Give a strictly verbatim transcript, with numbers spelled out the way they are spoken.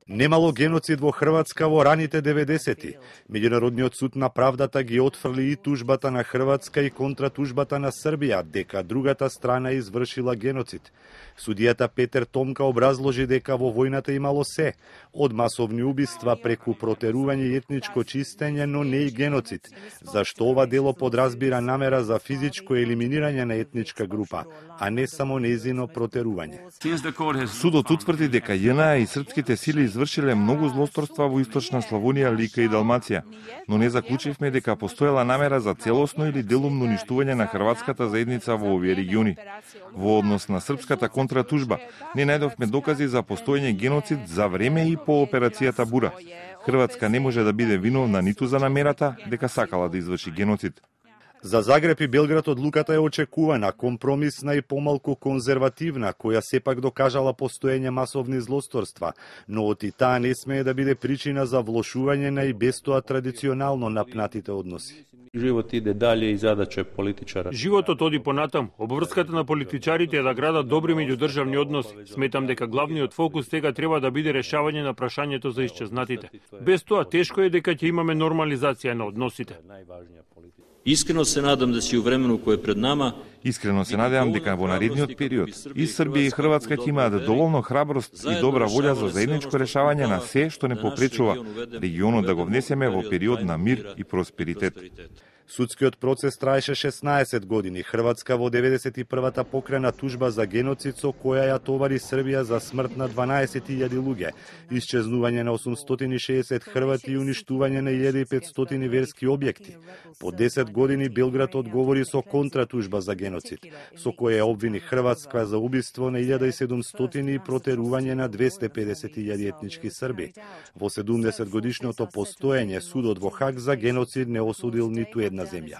Немало геноцид во Хрватска во раните деветдесети. Меѓународниот суд на правдата ги отфрли и тужбата на Хрватска и контратужбата на Србија дека другата страна извршила геноцид. Судијата Петер Томка образложи дека во војната имало се, од масовни убиства преку протерување и етничко чистење, но не и геноцид, зашто ова дело подразбира намера за физичко елиминирање на етничка група, а не само нејзино протерување. Судот утврди дека ЈНА и српските сили извршиле многу злосторства во источна Славонија, Лика и Далмација, но не заклучивме дека постоела намера за целосно или делумно уништување на хрватската заедница во овие региони. Во однос на српската контратужба, не најдовме докази за постоење геноцид за време и по операцијата Бура. Хрватска не може да биде виновна ниту за намерата дека сакала да изврши геноцид. За Загреб и Белград одлуката е очекувана, компромисна и помалку конзервативна, која сепак докажала постоење масовни злосторства, но од и таа не смее да биде причина за влошување на и без тоа традиционално напнатите односи. Живот иде дале и задача политичара. Животот оди понатам. Обврската на политичарите е да градат добри меѓудржавни односи. Сметам дека главниот фокус сега треба да биде решавање на прашањето за исчезнатите. Без тоа тешко е дека ќе имаме нормализација на односите. Искрено се надам да си у времену кое е пред нама. Искрено се надевам дека во наредниот период и Србија и Хрватска ќе имаат доволно храброст и добра волја за заедничко решавање на се што не попречува регионот да го внесеме во период на мир и просперитет. Судскиот процес траеше шеснаесет години. Хрватска во деветдесет и првата покрена тужба за геноцид со која ја товари Србија за смрт на дванаесет илјади луѓе, исчезнување на осумстотини и шеесет хрвати и уништување на илјада и петстотини верски објекти. По десет години Белград одговори со контратужба за геноцид, со која обвини Хрватска за убиство на илјада и седумстотини и протерување на двесте и педесет илјади етнички срби. Во седумдесет годишното постоење судот во Хаг за геноцид не осудил ниту една земја.